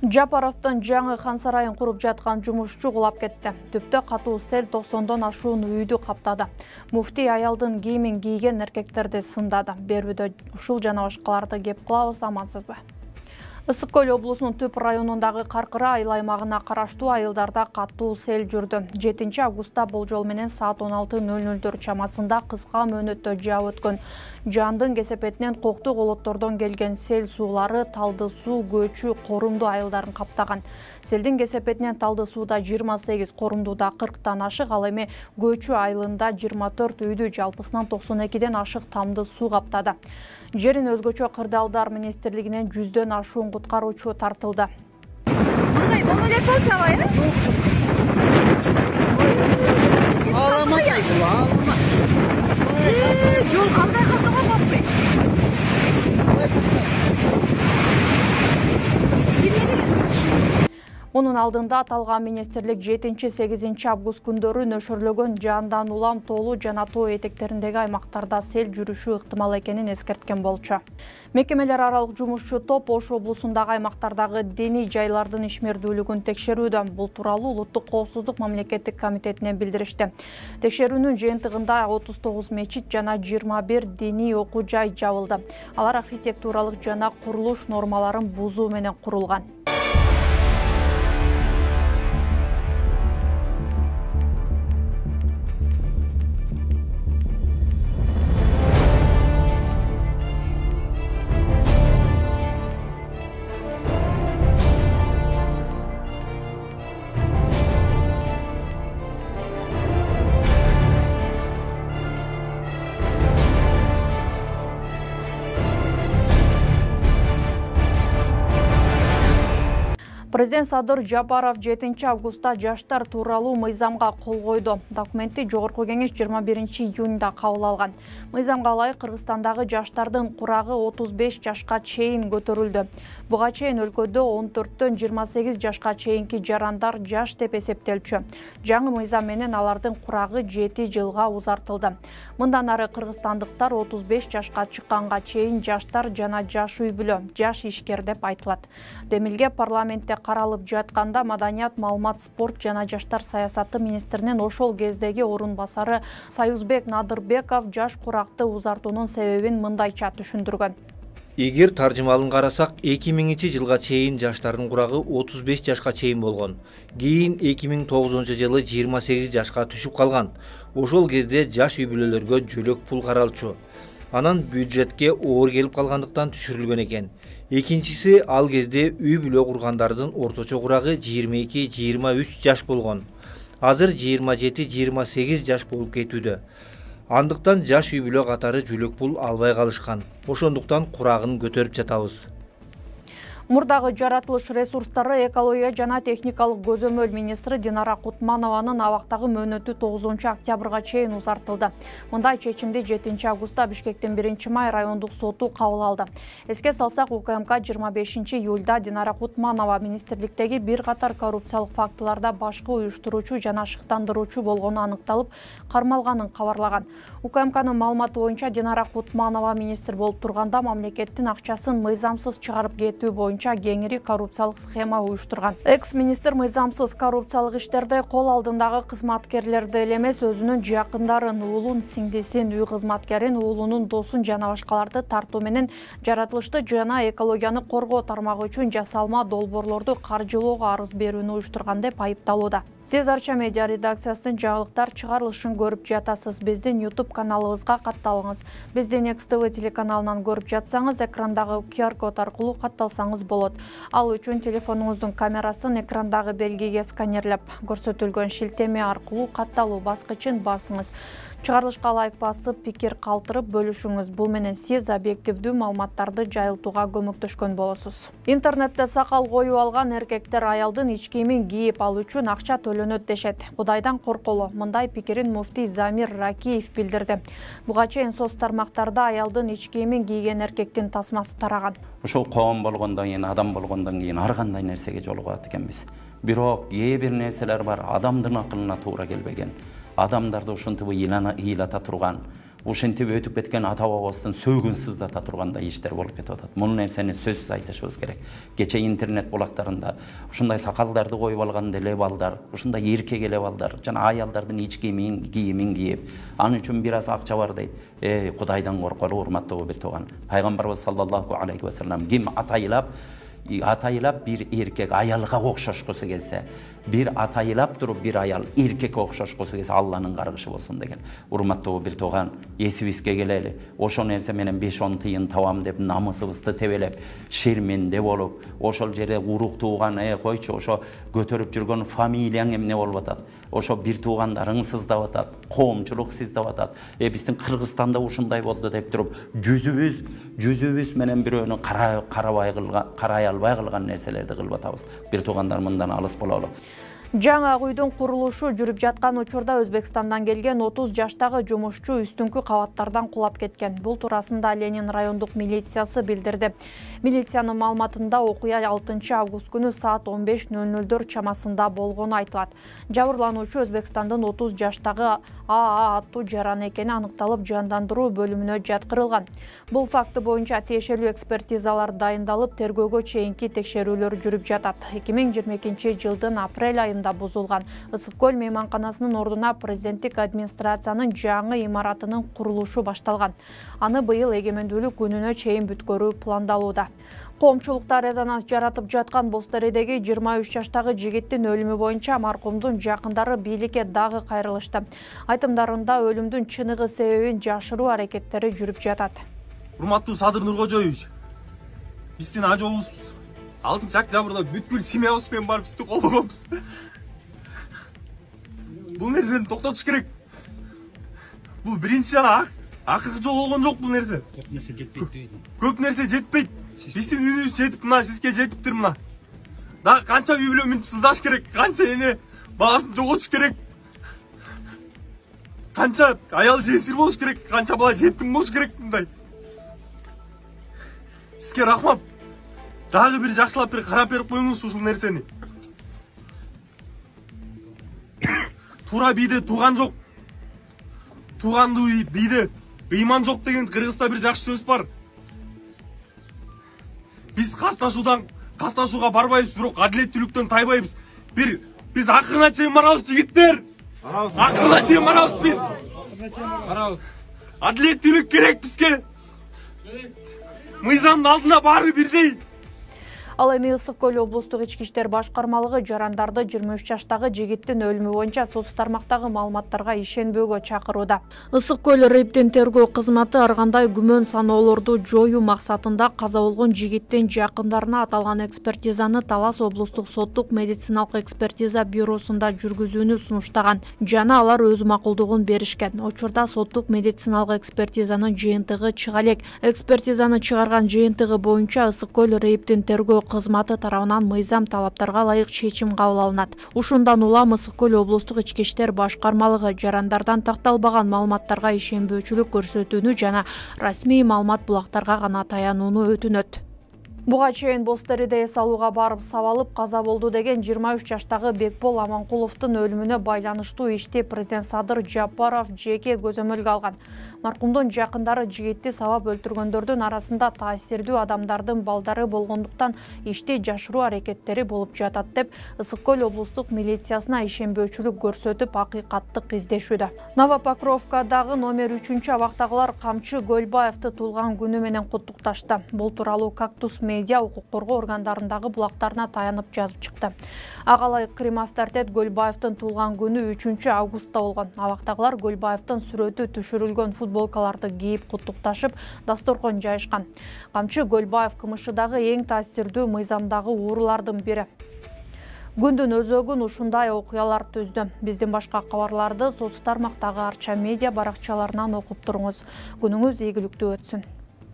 Жапаровдун жаңы хан сарайын куруп жаткан жумушчу кулап кетти. Түптө катуу сел 90дон ашуун үйдү каптады. Муфтий аялдын кийимин кийген эркектерди сындады. Берүүдө ушул жана башкаларды кеп кылабыз, амансызбы? Ысык Көл облусунун Түп районундагы Каркыра айыл аймагына караштуу айылдарда катуу сел жүрдү. 7 августта болжол менен саат 16:00 чамасында кыска мөөнөттө жаап өткөн жандын кесепетинен коктуу колоттордон келген сел суулары Талды суу, Көчү, Корумду айылдарын каптаган. Селдин кесепетинен Талды сууда 28, Корумдуда 40тан ашык, ал эми Көчү айылында 24 үйдү жалпысынан 92ден ашык тамды суу каптады. Жерин өзгөчө кырдаалдар министрлигинен 100дөн ашуун куткаруучу тартылды. Мындай боло элек болчу абай, жол кандай калды го болбой. Мунун алдында аталган министрлик 7-8 август күндөрү нөшөрлөгөн жандан улам тоолуу жана тоо этектериндеги аймактарда сел жүрүшү ыктымал экенин эскерткен болчу. Мекемелер аралык жумушчу топ Ош облусундагы аймактардагы диний жайлардын ишмердүүлүгүн текшерүүдө. Бул тууралуу Улуттук коопсуздук мамлекеттик комитетине билдиришти. Текшерүүнүн жыйынтыгында 39 мечит жана 21 диний окуу жай жабылды. Алар архитектуралык жана курулуш нормаларын бузуу менен курулган. Президент Садыр Жапаров 7 августта жаштар тууралуу мыйзамга кол койду. Документти Жогорку кеңеш 21 июнда кабыл алган. Мыйзамга ылайык Кыргызстандагы жаштардын курагы 35 жашка чейин көтөрүлдү. Буга чейин өлкөдө 14төн 28 жашка чейинки жарандар жаш деп эсептелчү. Жаңы мыйзам менен алардын курагы 7 жылга узартылды. Мындан ары кыргызстандыктар 35 жашка чыкканга чейин жаштар жана жаш үй бүлө, жаш ишкер деп айтылат. Демилге парламентте каралып жатканда Маданият, маалымат, спорт жана жаштар саясаты министринин ошол кездеги орун басары Союзбек Надырбеков жаш куракты узартуунун себебин мындайча түшүндүргөн. Эгер таржымалын карасак, 2000 жылга чейин жаштардын курагы 35 жашка чейин болгон. Кийин 2009 жылы 28 жашка түшүп калган. Ошол кезде жаш үй бүлөлөргө жөлөк пул каралчу. Анан бюджетке оор келип калгандыктан түшүрүлгөн экен. Экинчиси, ал кезде үй бүлө кургандардын орточо курагы 22-23 жаш болгон. Азыр 27-28 жаш болуп кетүүдө. Андыктан жаш үй бүлө катары жөлөк пул албай калышкан. Ошондуктан курагын көтөрүп жатабыз. Мурдагы жаратылыш ресурстары, экология жана техникалык көзөмөл министри Динара Кутманованын абактагы мөөнөтү 9 октябрга чейин узартылды. Мындай чечимди 7 августта Бишкектин 1 май райондук соту кабыл алды. Эске салсак, УКМК 25 июлда Динара Кутманова министрликтеги бир катар коррупциялык фактыларда башкы уюштуруучу жана шыктандыруучу болгону аныкталып, кармалганын кабарлаган. УКМКнын маалыматы боюнча Динара Кутманова министр болуп турганда мамлекеттин акчасын мыйзамсыз чыгарып кетүү боюнча кеңири коррупциялык схема уюштурган. Экс-министр мыйзамсыз коррупциялык иштерде кол алдындагы кызматкерлерди эле эмес, өзүнүн жакындарын, уулун, сиңдисин, үй кызматкерин, уулунун досун жана башкаларды тартуу менен жаратылышты жана экологияны коргоо тармагы үчүн жасалма долбоорлорду каржылоого арыз берүүнү уюштурган деп айыпталууда. Сиз Арча медиа редакциясынын жаңылыктар чыгарылышын көрүп жатасыз. Биздин YouTube каналыбызга катталыңыз. Биздин Next TV телеканалынан көрүп жатсаңыз, экрандагы QR-код аркылуу катталсаңыз болот. Ал үчүн телефонуңуздун камерасын экрандагы белгиге сканерлеп, көрсөтүлгөн шилтеме аркылуу катталуу баскычын басыңыз. Чыгарылышка лайк басып, пикир калтырып бөлүшүңүз. Бул менен сиз объективдүү маалыматтарды жайылтууга көмөктөшкөн болосуз. Интернетте сакал коюп алган эркектер аялдын ич кийимин кийип алуу үчүн акча төлөнөт дешет. Кудайдан корколу. Мындай пикирин муфтий Замир Ракиев билдирди. Буга чейин соц тармактарда аялдын ич кийимин кийген эркектин тасмасы тараган. Ушул коом болгондон кийин, адам болгондон кийин ар кандай нерсеге жолугат экенбиз. Бирок кээ бир нерселер бар, адамдын акылына туура келбеген. Адамдарды ушинтип ыйлата турган, ушинтип өтүп кеткен ата бабабыздын сөөгүн сыздата тургандай иштер болуп кетип атат. Бул нерсени сөзсүз айтышыбыз керек. Кече интернет булактарында ушундай сакалдарды коюп алган деле балдар, ушундай эркек эле балдар жана аялдардын ич кийимин кийип, анын үчүн бир аз акча бар дейт. Кудайдан корколу, урматтуу бир тууган. Пайгамбарыбыз саллаллаху алейхи ва саллям ким атайылап бир эркек аялга окшошкусу келсе, бир атайылап туруп бир аял эркекке окшошкусу келсе, Алланын каргышы болсун деген. Урматтуу бир тууган, эсибизге келели. Ошо нерсе менен 5-10 тыйын табам деп намысыбызды тебелеп, шерменде болуп, ошол жерде урук тууган, койчу, ошо көтөрүп жүргөн фамилияң эмне болуп атат? Ошо бир туугандарың сыздап атат, коомчулук сыздап атат. Биздин Кыргызстанда ушундай болду деп туруп, жүзүбүз менен бирөөнү карай албай калган нерселерди кылып атабыз. Бир туугандар мындан алыс бололу. Жаңа үйдүн курулушу жүрүп жаткан учурда Өзбекстандан келген 30 жаштагы жумушчу үстүңкү кабаттардан кулап кеткен. Бул туурасында Ленин райондук милициясы билдирди. Милициянын маалыматында окуя 6 август күнү саат 15:00 чамасында болгону айтылат. Жабырлануучу Өзбекстандын 30 жаштагы АА аттуу жаран экени аныкталып, жандандыруу бөлүмүнө жаткырылган. Бул факты боюнча тиешелүү экспертизалар дайындалып, тергөөгө чейинки текшерүүлөр жүрүп жатат. 2022 жылдын апрель айында бузулган Ысык көл мейманканасынын ордуна президенттик администрациянын жаңы имаратынын курулушу башталган. Аны быйыл эгемендүүлүк күнүнө чейин бүткөрүү пландалууда. Коомчулукта резонанс жаратып жаткан Бостередеги 23 жаштагы жигиттин өлүмү боюнча маркумдун жакындары бийликке дагы кайрылышты. Айтымдарында өлүмдүн чыныгы себебин жашыруу аракеттери жүрүп жатат. Урматтуу Садыр Нуркожоевич, биздин ажообуз 6-октябрда бүткүл семьябыз менен барып сизди колдогонбуз. Бул нерсени токтотуш керек. Бул биринчи жана акыркы жолу болгон жок бул нерсе. Көп нерсе жетпейт. Биздин үнүбүз жетип, мына сизге жетиптир мына. Да канча үй бүлө мүнүп сыздаш керек, канча эне баласын жоготуш керек. Канча аял жесир болуш керек, канча бала жетим болуш керек мындай. Сизге рахмат. Дагы бир жакшылап бир карап берип коюңуз ушул нерсени. Туура бийде тууган жок. Туугандуу бийде ыйман жок деген Кыргызда бир жакшы сөз бар. Биз касташууга барбайбыз, бирок адилеттүүлүктөн тайбайбыз. Биз акырына чейин барабыз жигиттер. Акырына чейин барабыз биз. Барабыз. Адилеттүүлүк керек бизге. Мыйзамдын алдында баары бирдей. Ал эми Ысык көл облустук ички иштер башкармалыгы жарандарды 23 жаштагы жигиттин өлүмү боюнча соц тармактагы маалыматтарга ишенбөөгө чакырууда. Ысык көл РЭБдин тергөө кызматы ар кандай күмөн саноолорду жоюу максатында каза болгон жигиттин жакындарына аталган экспертизаны Талас облустук соттук медициналык экспертиза бюросунда жүргүзүүнү сунуштаган жана алар өз макулдугун беришкен. Учурда соттук медициналык экспертизанын жыйынтыгы чыга элек. Экспертизаны чыгарган жыйынтыгы боюнча Ысык көл РЭБдин тергөө кызматы тарабынан мыйзам талаптарга ылайык чечим кабыл алынат. Ушундан улам Ысык көл облустук ички иштер башкармалыгы жарандардан такталбаган маалыматтарга ишенбөөчүлүк көрсөтүүнү жана расмий маалымат булактарга гана таянууну өтүнөт. Буга чейин Бостереде эс алууга барып сабалып каза болду деген 23 жаштагы Бекбол Аманкуловдун өлүмүнө байланыштуу ишти президент Садыр Жапаров жеке көзөмөлгө алган. Маркумдун жакындары жигитти сабап өлтүргөндөрдүн арасында таасирдүү адамдардын балдары болгондуктан ишти жашыруу аракеттери болуп жатат деп Ысык көл облустук милициясына ишенбөөчүлүк көрсөтүп акыйкаттык издешүүдө. Новопокровкадагы номер 3 абактагылар Камчы Көлбаевди туулган күнү менен куттукташты. Бул тууралуу Кактус медиа укук коргоо органдарындагы булактарына таянып жазып чыкты. Агалай Крим авторитет Көлбаевдин туулган күнү 3 августта болгон. Абактагылар Көлбаевдин сүрөтү түшүрүлгөн футболкаларды кийип куттукташып, дасторкон жайышкан. Камчы Көлбаев КМШдагы эң таасирдүү мыйзамдагы уурулардын бири. Күндүн өзөгүн ушундай окуялар түздү. Биздин башка кабарларды соц тармактагы Арча медиа баракчаларынан окуп туруңуз. Күнүңүз ийгиликтүү өтсүн.